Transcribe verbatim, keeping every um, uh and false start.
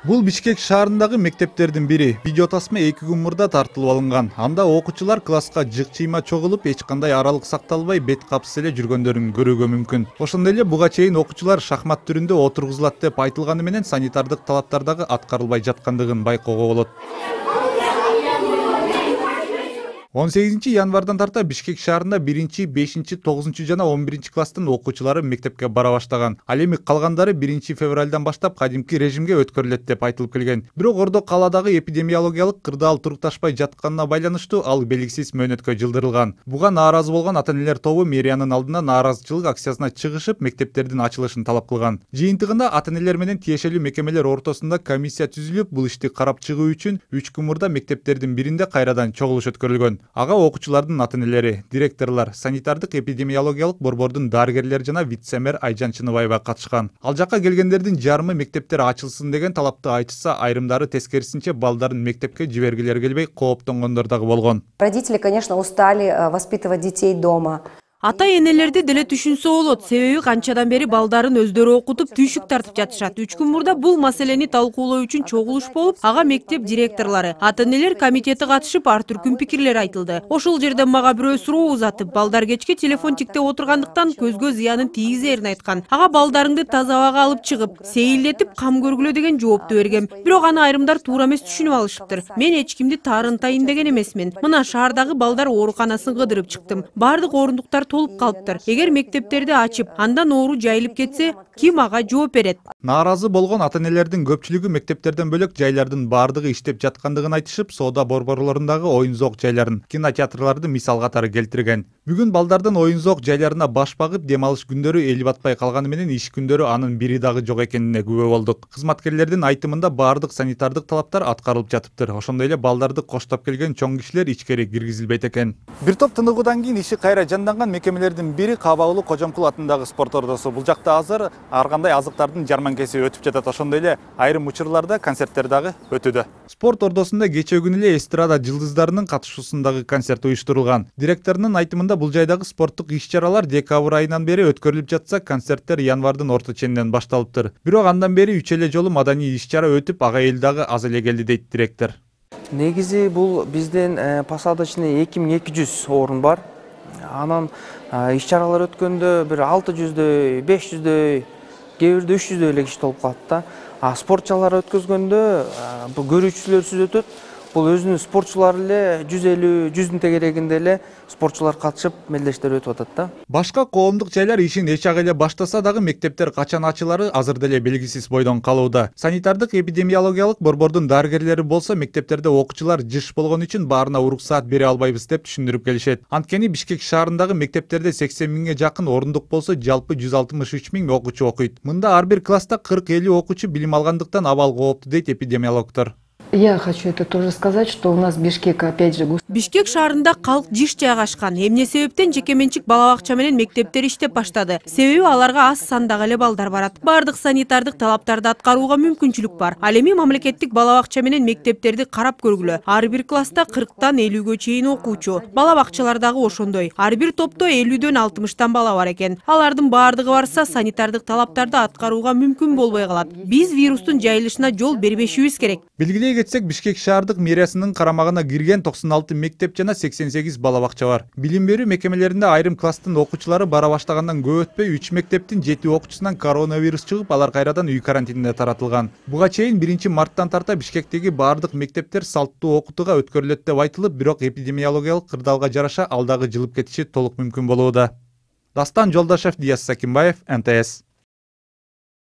Бул Бишкек шаарындагы мектептердин бири. Видео тасма эки күн мурда тартылып алынган. Анда окуучулар класска жык-чыйма чогулуп, эч кандай аралык сакталбай бет капсыз эле жүргөндөрүн көрүүгө мүмкүн. Ошондой эле буга чейин окуучулар шахмат түрүндө отургузулат деп айтылганы менен санитардык талаптар дагы аткарылбай жаткандыгын байкоого болот. он сегизинчи январдан тарта Бишкек шаарында биринчи, бешинчи, тогузунчу жана он биринчи класстын окуучулары мектепке бара баштаган. Ал эми калгандары биринчи февралдан баштап кадимки режимге өткөрүлөт деп айтылып келген. Бирок Ордо калаадагы эпидемиологиялык кырдаал турукташпай жатканына байланыштуу ал белгисиз мөөнөткө жылдырылган. Буга нааразы болгон ата-энелер тобу мэриянын алдына нааразычылык акциясына чыгышып, мектептердин ачылышын талап кылган. Жыйынтыгында ата-энелер менен тиешелүү мекемелер ортосунда комиссия түзүлүп, бул ишти карап чыгуу үчүн үч күн мурда мектептердин биринде кайрадан чогулуш өткөрүлгөн. Ага окуучулардын ата-энелери, директорлор, санитардык эпидемиологиялык борбордун дарыгерлери жана вице-мэр Айжан Чыныбаева катышкан. Ал жакка келгендердин жарымы мектептер ачылсын деген талапты айтышса, айрымдары тескерисинче балдарын мектепке жибергилери келбей кооптонгондор дагы болгон. Родители, конечно, устали воспитывать детей дома. Ата-энелерди деле түшүнсө болот, себеби канчадан бери балдарын өздөрү окутуп, түйшүк тартып жатышат. үч күн мурда бул маселени талкуулоо үчүн чогулуш болуп, ага мектеп директорлору, ата-энелер комитети катышып, ар түркүн пикирлер айтылды. Ошол жерде мага бирөө суроо узатып, балдар кечке телефон тиктеп отургандыктан көзгө зыянын тийгизерин айткан. Ага балдарыңды таза абага алып чыгып, сейилдетип кам көргүлө деген жоопту бергем. Бирок аны айрымдар туура эмес түшүнүп алышыптыр. Мен эч кимди таарынтайын деген эмесмин. Мына шаардагы балдар ооруканасын кыдырып чыктым. Бардык орундуктар толуп калыптыр. Эгер мектептерди ачып, андан оору жайылып кетсе, ким ага жооп берет? Нааразы болгон ата-энелердин көпчүлүгү мектептерден бөлөк жайлардын бардыгы иштеп жаткандыгын айтышып, соода борборлорундагы оюн-зоок жайларын, кинотеатрларды мисал катары келтирген. Бүгүн балдардын оюн-зоок жайларына баш багып, дем алыш күндөрү эл батпай калганы менен иш күндөрү анын бири дагы жок экенине күбө болдук. Кызматкерлердин айтымында бардык санитардык талаптар аткарылып жатыптыр. Ошондой эле балдарды коштоп келген чоң кишилер ичкери киргизилбейт экен. Бир топ тыныгуудан кийин иши кайра жанданган мекемелердин бири Кабаулу Кожомкул атындагы спорт ордосу. Бул жакта азыр ар кандай азыктардын жарманкеси өтүп жатат. Ошондой эле айрым учурларда концерттер дагы өтүүдө. Спорт ордосунда кечээ күнү эле эстрада жылдыздарынын катышуусундагы концерт уюштурулган. Директорунун айтымында бул жайдагы спорттук иш-чаралар декабрь айынан бери өткөрүлүп жатса, концерттер январдын орто ченинен башталыптыр. Бирок андан бери үч эле жолу маданий иш-чара өтүп, ага эл дагы аз эле келди дейт директор. Негизи бул бизден посадочный эки миң эки жүз орун бар. Анан иш-чаралар өткөндө бир алты жүздөй, беш жүздөй, кээ бирде үч жүздөй эле киши толуп калат да. А спортчалар өткөзгөндө бул көрүүчүлөрсүз өтөт. Бул өзүнүн спортчулары эле жүз элүү, жүздүн тегерегинде эле спортчулар катышып, мелдештер өтүп атат да. Башка коомдук жайлар ишин эч ак эле баштаса дагы мектептер качан ачылары азыр деле белгисиз бойдон калууда. Санитардык эпидемиологиялык борбордун дарыгерлери болсо, мектептерде окуучулар жыш болгон үчүн баарына уруксаат бере албайбыз деп түшүндүрүп келишет. Анткени Бишкек шаарындагы мектептерде сексен миңге жакын орундук болсо, жалпы жүз алтымыш үч миң окуучу окуйт. Мында ар бир класста кырк элүү окуучу билим алгандыктан абал кооптуу дейт эпидемиологдор. Я хочу это тоже сказать, что у нас Бишкек опять же густо. Бишкек шаарында калк жыш жайгашкан. Эмне себептен жекеменчик бала бакча менен мектептер иштеп баштады. Себеби аларга аз сандагы эле балдар барат. Бардык санитардык талаптарды аткарууга мүмкүнчүлүк бар. Ал эми мамлекеттик бала бакча менен мектептерди карап көргүлө. Ар бир класста кырктан элүүгө чейин окуучу. Бала бакчалар дагы ошондой. Ар бир топто элүүдөн алтымыштан бала бар экен. Алардын бардыгы барса, санитардык талаптарды аткарууга мүмкүн болбой калат. Биз вирустун жайылышына жол бербешибиз керек. Белгилей кетсек, Бишкек шаардык мэриясынын карамагына кирген токсон алты мектеп жана сексен сегиз бала бакча бар. Билим берүү мекемелеринде айрым класстын окуучулары бара баштагандан көп өтпөй үч мектептин жети окуучусунан коронавирус чыгып, алар кайрадан үй карантинине таратылган. Буга чейин биринчи марттан тарта Бишкектеги бардык мектептер салттуу окутууга өткөрүлөт деп айтылып, бирок эпидемиологиялык кырдаалга жараша ал дагы жылып кетиши толук мүмкүн болууда. Дастан Жолдашев, Диас Сакимбаев, эн тэ эс.